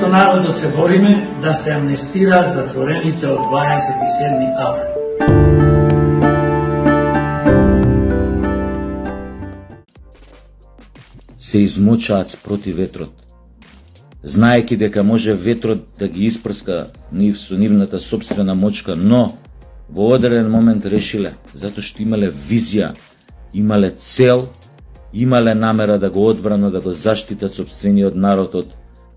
со народот се бориме да се амнестираат затворените од 27 април. Се измучаат спроти ветрот, знаеки дека може ветрот да ги испрска нив со нивната собствена мочка, но во одреден момент решиле, затоа што имале визија, имале цел, имале намера да го одбранат, да го заштитат сопствениот народ од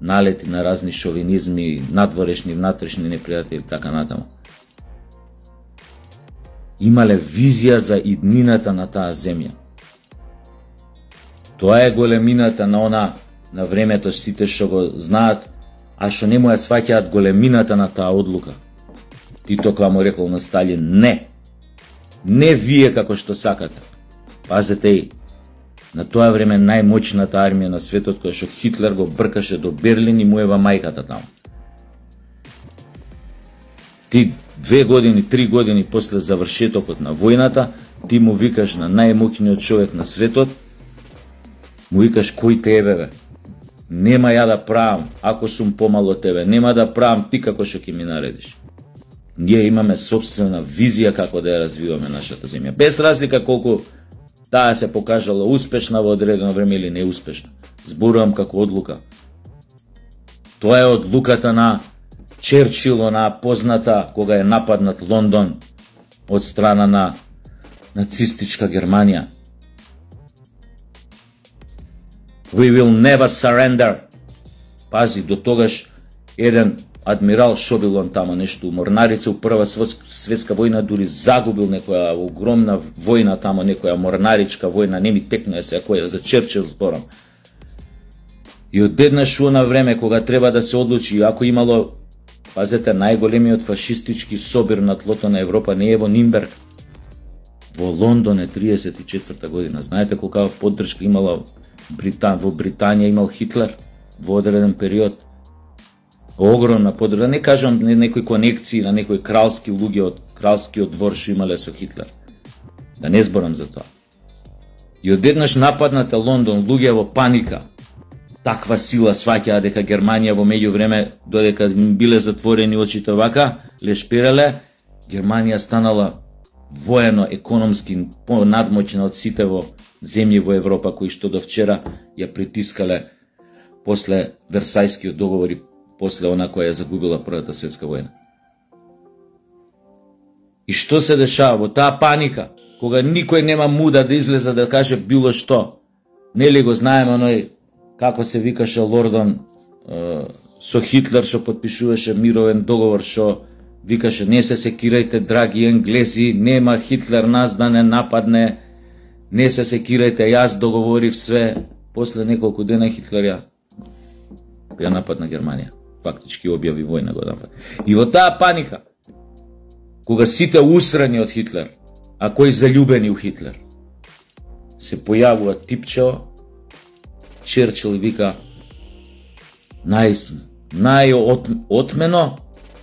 налети на разни шовинизми, надворешни, внатрешни непријатели, така натаму. Имале визија за иднината на таа земја. Тоа е големината на времето, сите што го знаат, а што не му ја сваќаат големината на таа одлука. Тито кога му рекол на Сталин, не вие како што сакате. Пазете и, на тоа време најмоćната армија на светот, која што Хитлер го бркаше до Берлин и му ева мајката таму. Ти 2 години, 3 години после завршетокот на војната, ти му викаш на најмоćниот човек на светот, му викаш кој те бе? Нема ја да правам, ако сум помало тебе, нема да правам ти како што ќе ми наредиш. Ние имаме собствена визија како да ја развиваме нашата земја. Без разлика колку таа се покажала успешна во одредено време или неуспешна. Зборувам како одлука. Тоа е одлуката на Черчил, она позната кога е нападнат Лондон од страна на нацистичка Германија. We will never surrender. Пази, до тогаш еден адмирал што бил он тамо нешто морнарица у Прва светска војна, дури загубил некоја огромна војна тамо, некоја морнаричка војна, не ми текнува се која за Черчил зборам. И одеднаш у она време кога треба да се одлучи, ако имало, пазете, најголемиот фашистички собир на тлото на Европа не е во Нимберг, во Лондон е 34 година. Знаете колка поддршка имала во Британија имал Хитлер во одреден период. Огромна поддршка, не кажам некои конекции на некои кралски луѓе од кралскиот двор што имале со Хитлер. Да не зборам за тоа. И одеднаш нападната Лондон, луѓе во паника. Таква сила сваќаа дека Германија во меѓувреме, додека биле затворени очите вака, лешпереле, Германија станала воено, економски понадмоќна од сите во земји во Европа кои што до вчера ја притискале после Версајскиот договор и после она која ја загубила Првата светска војна. И што се дешава во таа паника, кога никој нема муда да излезе да каже било што? Нели го знаеме оној, како се викаше Лордон со Хитлер што потпишуваше мировен договор, што викаше не се секирајте драги енглези, нема Хитлер нас да не нападне, не се секирајте, јас договорив све. После неколку дена Хитлер ја нападна Германија. Фактички објави војна го напад. И во таа паника, кога сите усрани од Хитлер, а кои заљубени у Хитлер, се појавува типчево, Черчил и вика најотмено,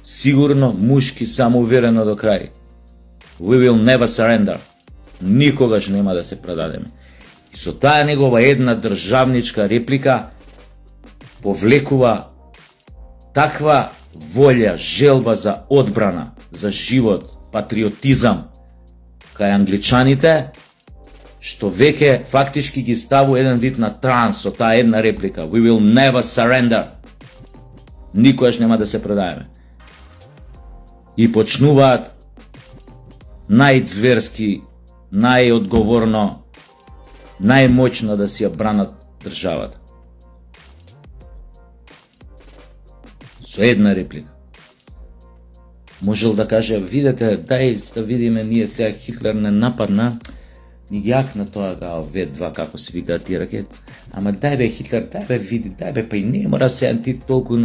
сигурно, мушки, самоуверено до крај. We will never surrender. Никогаш нема да се предадеме. И со таа негова една државничка реплика повлекува таква волја, желба за одбрана, за живот, патриотизам кај англичаните, што веќе фактички ги ставу еден вид на транс со таа една реплика. We will never surrender. Никогаш нема да се предаеме. И почнуваат најцверски, најодговорно, најмоćно да си ја бранат државата. Со една реплика. Можел да каже, видете, дај да видиме ние сега Хитлер не нападна, ни јакна тоа В2, како се викаат тие ракети. Ама дај бе Хитлер, дај бе види, дај бе, па и не мора сега ти толку...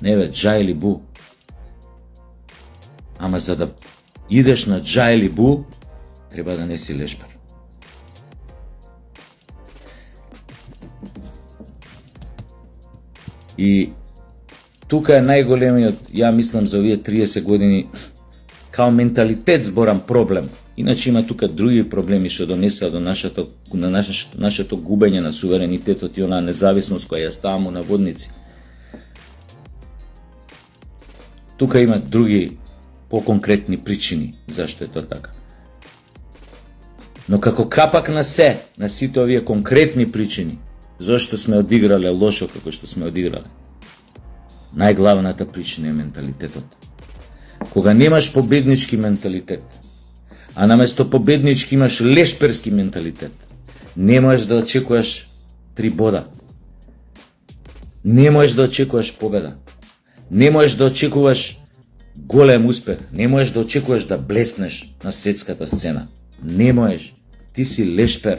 Не бе, джа или бу. Ама за да идеш на джа или бу, треба да не си лешпар. И тука е најголемиот, ја мислам за овие 30 години, као менталитет зборам проблем. Иначе има тука други проблеми што донесаа до нашето губење на суверенитетот и онаа независност која ја ставам у наводници. Тука има други поконкретни причини зашто е тоа така. Но како капак на сите овие конкретни причини, зашто сме одиграле лошо како што сме одиграле, најглавната причина е менталитетот. Кога немаш победнички менталитет, а наместо победнички имаш лешперски менталитет, не можеш да очекуваш 3 бода. Не можеш да очекуваш победа. Не можеш да очекуваш голем успех. Не можеш да очекуваш да блеснеш на светската сцена. Не можеш. Ти си лешпер.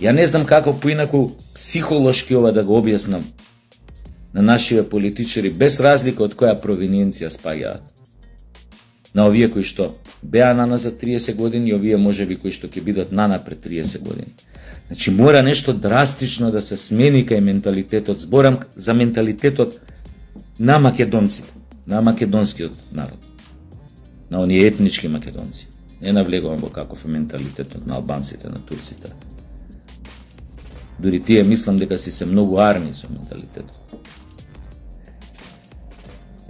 Ја не знам како поинаку психолошки ова да го објаснам на нашите политичари, без разлика од која провиненција спаѓаат. На овие кои што беа наназад 30 години и овие можеби кои што ќе бидат нанапред 30 години. Значи мора нешто драстично да се смени кај менталитетот. Зборам за менталитетот на македонците, на македонскиот народ, на оние етнички македонци. Не навлегувам во каков е менталитетот на албанците, на турците. Дури тие мислам дека си се многу арни со менталитетот.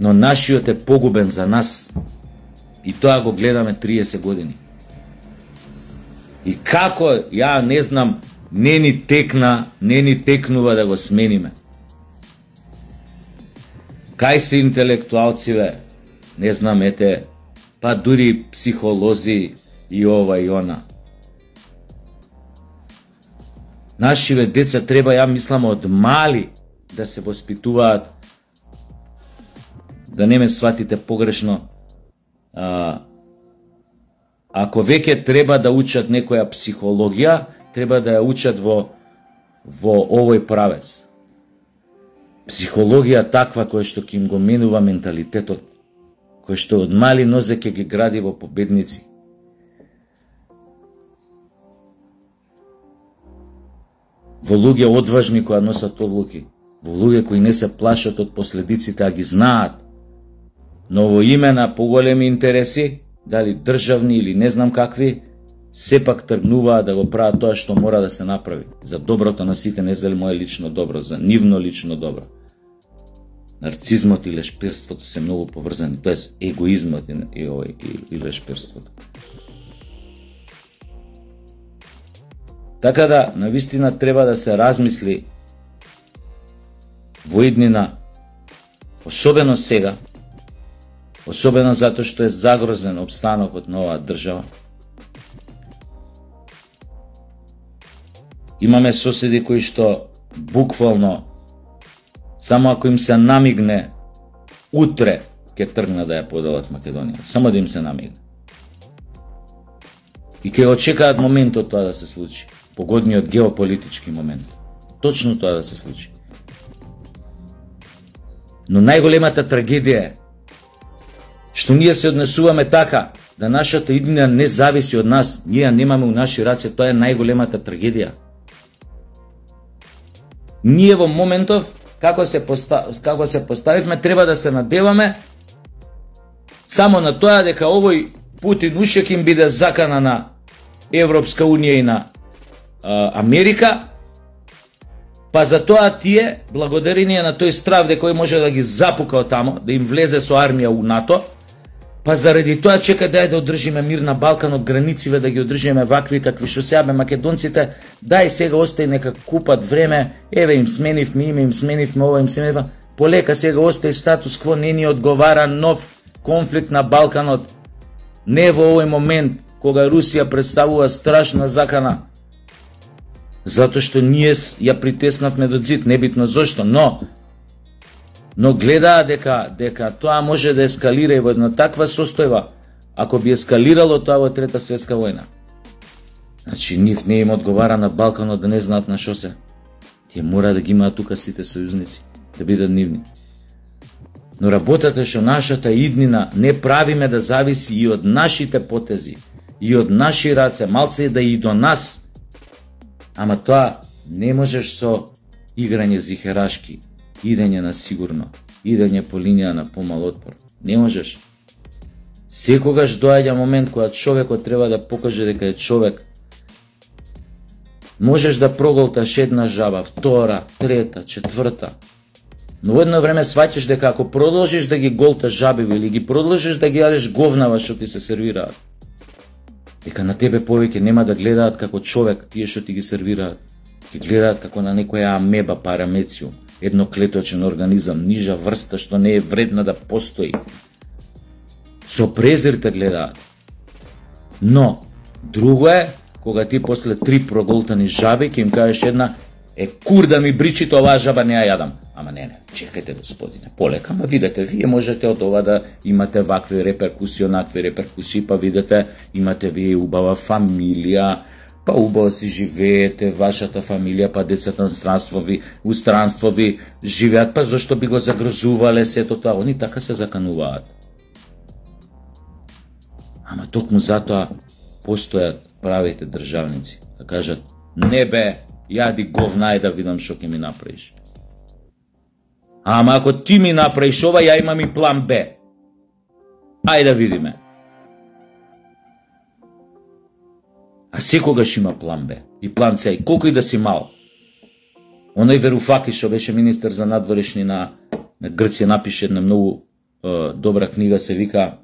Но нашиот е погубен за нас. И тоа го гледаме 30 години. И како, ја не знам, не ни текнува да го смениме. Кај се интелектуалциве, не знам, ете, па дури психолози и ова и она. Нашиве деца треба, ја мислам, од мали да се воспитуваат, да не ме сватите погрешно, ако веќе треба да учат некоја психологија, треба да ја учат во овој правец. Психологија таква која што ќе им го менува менталитетот, кој што од мали нозе ќе ги гради во победници. Во луѓе одважни кои носат одлуки, во луѓе кои не се плашат од последиците, а ги знаат, но во име на поголеми интереси, дали државни или не знам какви, сепак тргнуваат да го прават тоа што мора да се направи за доброто на сите, не за мое лично добро, за нивно лично добро. Нарцизмот и лешперството се многу поврзани, тоест егоизмот и лешперството. Така да, навистина треба да се размисли во иднина, особено сега, особено затоа што е загрозен опстанокот на оваа држава. Имаме соседи кои што буквално, само ако им се намигне, утре ќе тргнат да ја поделат Македонија. Само да им се намигне. И ќе очекаат моментот тоа да се случи. Погодниот геополитички момент. Точно тоа да се случи. Но најголемата трагедија е што ние се однесуваме така, да нашата иднина не зависи од нас, ние ја немаме у наши раце, тоа е најголемата трагедија. Ние во моментов, како се поставивме, треба да се надеваме само на тоа дека овој Путин уште ќе им биде закана на Европска Унија и на Америка, па за тоа тие, благодарение на тој страв дека кој може да ги запука од тамо, да им влезе со армија у НАТО, па заради тоа чека да одржиме мир на Балкан, од границиве да ги одржиме вакви какви што сега бе македонците, дај сега остај нека купат време, еве им сменивме име, им сменивме ова, им сменивме, полека сега остај статус кво, не ни одговара нов конфликт на Балканот, не во овој момент кога Русија представува страшна закана, затоа што ние ја притеснавме до зид, небитно зошто, но гледаа дека тоа може да ескалира и во една таква состојба, ако би ескалирало тоа во Трета светска војна. Значи, нив не им одговара на Балканот да не знаат на шо се. Тие мора да ги имаат тука сите сојузници, да бидат нивни. Но работата што нашата иднина не правиме да зависи и од нашите потези, и од наши раце, малце да и до нас. Ама тоа не можеш со играње зихерашки, идење на сигурно, идење по линија на помал отпор. Не можеш. Секогаш доаѓа момент кога човекот треба да покаже дека е човек. Можеш да проголташ една жаба, втора, трета, четврта. Но во едно време сваќаш дека ако продолжиш да ги голташ жабиви или ги продолжиш да ги јадеш говнава што ти се сервираат, дека на тебе повеќе нема да гледаат како човек тие што ти ги сервираат. Ги гледаат како на некоја амеба парамециум, едноклеточен организам, нижа врста што не е вредна да постои. Со презир те гледаат. Но, друго е, кога ти после 3 проголтани жаби, ќе им кажеш една, кур да ми бричите, оваа жаба не ја јадам. Ама не, чекајте господине, полека, ма видете, вие можете од ова да имате вакви реперкусии, онакви реперкусии, па видите, имате вие убава фамилија, па убаво си живеете, вашата фамилија, па децата у странство ви живеат, па зашто би го загрозувале сето тоа, они така се закануваат. Ама токму затоа постојат правите државници, да кажат, не бе, јади говна и да видам што ќе ми направиш. Ама ако ти ми направиш ова, ја имам и план Б. Ајде да видиме. А секогаш има план Б и план С, колку и да си мал. Оној Веруфаки што беше министер за надворешни на Грција напише една многу добра книга, се вика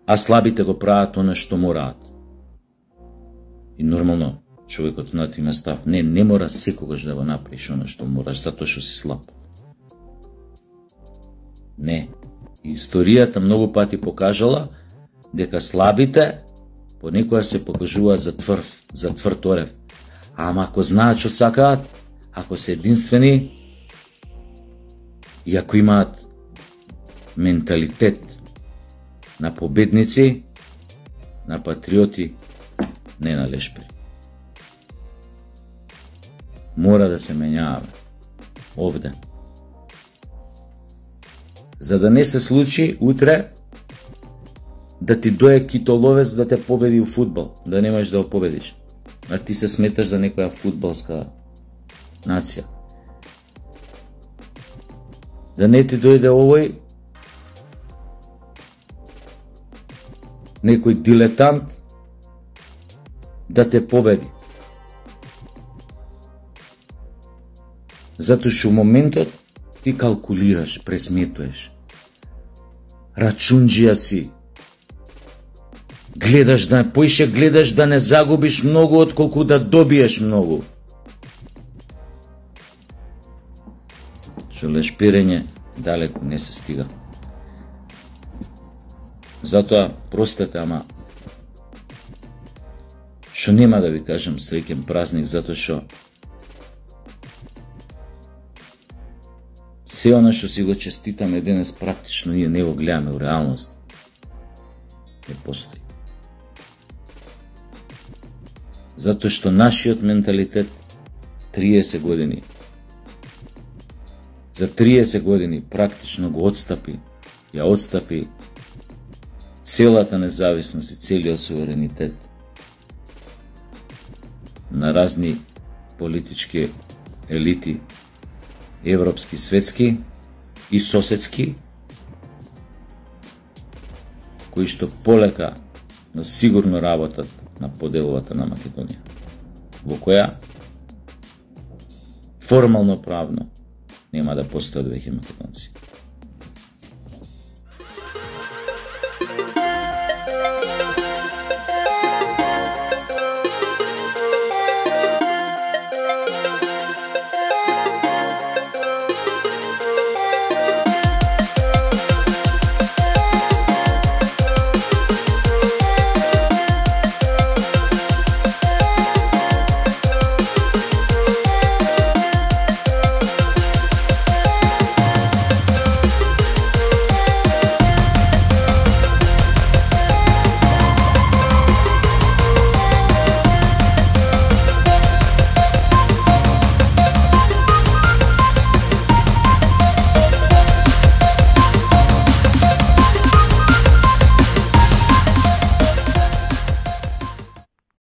а слабите го прават она што мораат. И нормално човекот на има став. Не мора секогаш да го направиш она што мораш, затоа што си слаб. Не. Историјата многу пати покажала дека слабите понекогаш се покажуваат за тврд орев. Ама ако знаат што сакаат, ако се единствени и ако имаат менталитет на победници, на патриоти, не на лешпери. Мора да се менјаваме овде. За да не се случи утре да ти дое китоловец да те победи у фудбал, да не можеш да го победиш. А ти се сметаш за некоја фудбалска нација. Да не ти дојде овој некој дилетант да те победи. Затоа што у моментот ти калкулираш, пресметуваш. Рачунџија си. Гледаш да не загубиш многу отколку да добиеш многу. Што лешперење далеку не се стига. Затоа, простете, ама што нема да ви кажам среќен празник, затоа што се она што си го честитаме денес практично ние не го гледаме у реалност. Не постои. Затоа што нашиот менталитет 30 години, за 30 години практично го ја отстапи целата независност и целиот суверенитет на разни политички елити, европски, светски и соседски, кои што полека, но сигурно работат на поделовата на Македонија, во која формално правно нема да постојат веќе македонци.